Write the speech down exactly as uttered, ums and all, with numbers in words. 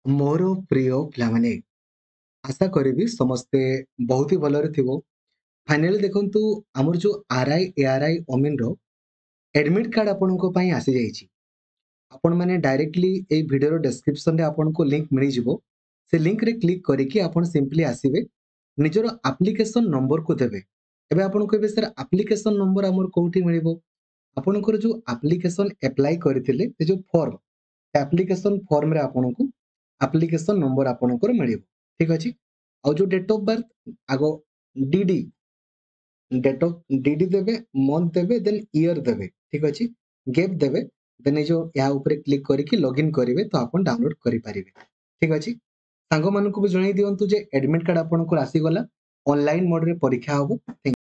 ମୋର ପ୍ରିୟ ପିଲାମାନେ, ଆଶା କରିବି ସମସ୍ତେ ବହୁତ ହି ଭଲରେ ଥିବ। ଫାଇନାଲି ଦେଖନ୍ତୁ, ଆମର ଯେଉଁ R I, A R I, ଅମିନର ଆଡ଼ମିଟ୍ କାର୍ଡ଼ ଆପଣଙ୍କ ପାଇଁ ଆସିଯାଇଛି। ଆପଣମାନେ ଡାଇରେକ୍ଟଲି ଏଇ ଭିଡ଼ିଓର ଡେସ୍କ୍ରିପସନରେ ଆପଣଙ୍କୁ ଲିଙ୍କ ମିଳିଯିବ। ସେ ଲିଙ୍କରେ କ୍ଲିକ୍ କରିକି ଆପଣ ସିମ୍ପଲି ଆସିବେ, ନିଜର ଆପ୍ଲିକେସନ୍ ନମ୍ବରକୁ ଦେବେ। ଏବେ ଆପଣ କହିବେ, ସାର୍, ଆପ୍ଲିକେସନ୍ ନମ୍ବର ଆମର କୋଉଠି ମିଳିବ? ଆପଣଙ୍କର ଯେଉଁ ଆପ୍ଲିକେସନ୍ ଆପ୍ଲାଏ କରିଥିଲେ, ସେ ଯେଉଁ ଫର୍ମ, ଆପ୍ଲିକେସନ୍ ଫର୍ମରେ ଆପଣଙ୍କୁ ଆପ୍ଲିକେସନ୍ ନମ୍ବର ଆପଣଙ୍କର ମିଳିବ। ଠିକ୍ ଅଛି? ଆଉ ଯେଉଁ ଡେଟ୍ ଅଫ୍ ବାର୍ଥ, ଆଗ ଡିଡି, ଡେଟ୍ ଅଫ୍ ଡିଡି ଦେବେ, ମନ୍ଥ ଦେବେ, ଦେନ୍ ଇୟର ଦେବେ। ଠିକ୍ ଅଛି? ଗେପ୍ ଦେବେ, ଦେନ୍ ଏଇ ଯେଉଁ ଏହା ଉପରେ କ୍ଲିକ୍ କରିକି ଲଗ୍ଇନ୍ କରିବେ ତ ଆପଣ ଡାଉନଲୋଡ୍ କରିପାରିବେ। ଠିକ୍ ଅଛି? ସାଙ୍ଗମାନଙ୍କୁ ବି ଜଣାଇ ଦିଅନ୍ତୁ ଯେ ଆଡମିଟ୍ କାର୍ଡ ଆପଣଙ୍କର ଆସିଗଲା, ଅନଲାଇନ୍ ମୋଡରେ ପରୀକ୍ଷା ହେବ।